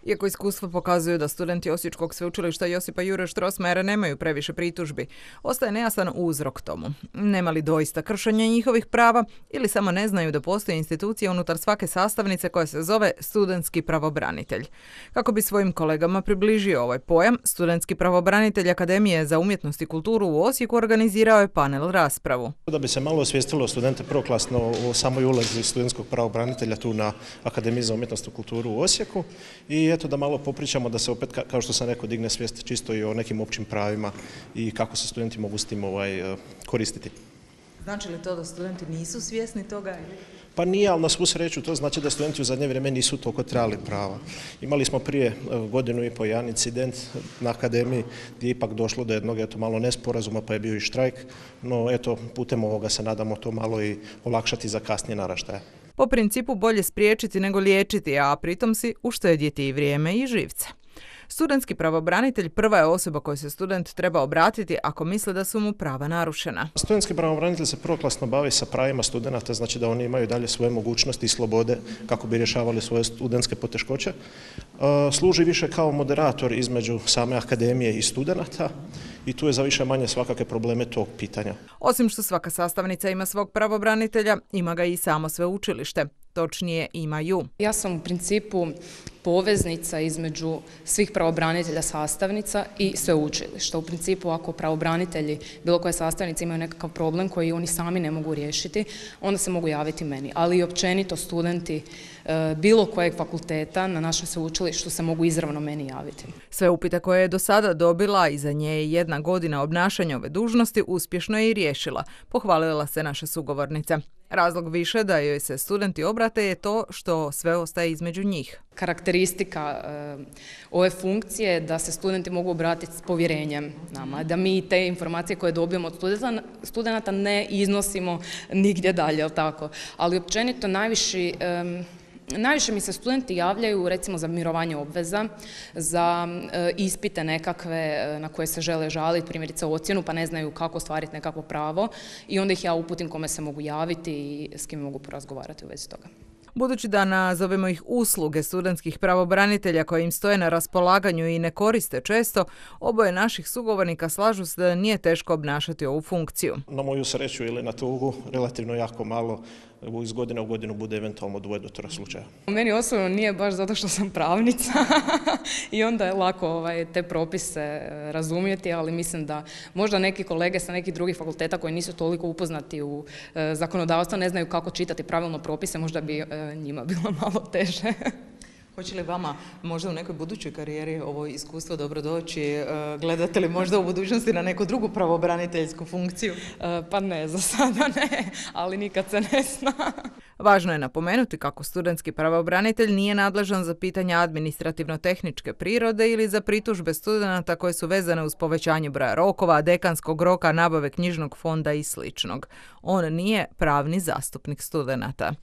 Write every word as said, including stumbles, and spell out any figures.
Iako iskustvo pokazuju da studenti Osječkog sveučilišta Josipa Jure Strossmayera nemaju previše pritužbi, ostaje nejasan uzrok tomu. Nema li doista kršenja njihovih prava ili samo ne znaju da postoji institucija unutar svake sastavnice koja se zove studentski pravobranitelj. Kako bi svojim kolegama približio ovaj pojam, studentski pravobranitelj Akademije za umjetnost i kulturu u Osijeku organizirao je panel raspravu. Da bi se malo osvijestilo studente prvoklasno o samoj ulozi studentskog pravobranitelja tu na Akademiji za umjetnost i kulturu u Osijeku i eto da malo popričamo da se opet, kao što sam rekao, digne svijest čisto i o nekim općim pravima i kako se studenti mogu s tim ovaj, koristiti. Znači li to da studenti nisu svjesni toga? Pa nije, ali na svu sreću to znači da studenti u zadnje vrijeme nisu toliko trebali prava. Imali smo prije godinu i po jedan incident na akademiji gdje je ipak došlo do jednog eto, malo nesporazuma pa je bio i štrajk, no eto putem ovoga se nadamo to malo i olakšati za kasnije naraštaje. Po principu bolje spriječiti nego liječiti, a pritom si uštedjeti i vrijeme i živce. Studentski pravobranitelj prva je osoba kojoj se student treba obratiti ako misle da su mu prava narušena. Studentski pravobranitelj se prvoklasno bavi sa pravima studenata, znači da oni imaju dalje svoje mogućnosti i slobode kako bi rješavali svoje studentske poteškoće. Služi više kao moderator između same akademije i studenata i tu je za više manje svakakve probleme tog pitanja. Osim što svaka sastavnica ima svog pravobranitelja, ima ga i samo sveučilište. Točnije imaju. Ja sam u principu poveznica između svih pravobranitelja sastavnica i sveučilišta. U principu ako pravobranitelji bilo koje sastavnice imaju nekakav problem koji oni sami ne mogu riješiti, onda se mogu javiti meni. Ali i općenito studenti e, bilo kojeg fakulteta na našem sveučilištu se mogu izravno meni javiti. Sve upite koje je do sada dobila i za nje je jedna godina obnašanja ove dužnosti uspješno je i riješila, pohvalila se naša sugovornica. Razlog više da joj se studenti obrate je to što sve ostaje između njih. Karakteristika e, ove funkcije je da se studenti mogu obratiti s povjerenjem nama, da mi te informacije koje dobijemo od studenta, studenata ne iznosimo nigdje dalje, jel tako? Ali općenito najviši... E, Najviše mi se studenti javljaju recimo za mirovanje obveza, za e, ispite nekakve e, na koje se žele žaliti, primjerice ocjenu, pa ne znaju kako ostvariti nekakvo pravo i onda ih ja uputim kome se mogu javiti i s kim mogu porazgovarati u vezi toga. Budući da nazovemo ih usluge studentskih pravobranitelja koje im stoje na raspolaganju i ne koriste često, oboje naših sugovornika slažu se da nije teško obnašati ovu funkciju. Na moju sreću ili na tugu relativno jako malo, iz godine u godinu bude eventualno dvoje do troje slučaja. Meni osobno nije baš zato što sam pravnica i onda je lako ovaj, te propise razumjeti, ali mislim da možda neki kolege sa nekih drugih fakulteta koji nisu toliko upoznati u e, zakonodavstvo ne znaju kako čitati pravilno propise, možda bi e, njima bilo malo teže. Hoće li vama možda u nekoj budućoj karijeri ovo iskustvo dobro doći? Gledate li možda u budućnosti na neku drugu pravobraniteljsku funkciju? Pa ne, za sada ne, ali nikad se ne zna. Važno je napomenuti kako studentski pravobranitelj nije nadležan za pitanja administrativno-tehničke prirode ili za pritužbe studenata koje su vezane uz povećanje broja rokova, dekanskog roka, nabave knjižnog fonda i sličnog. On nije pravni zastupnik studenata.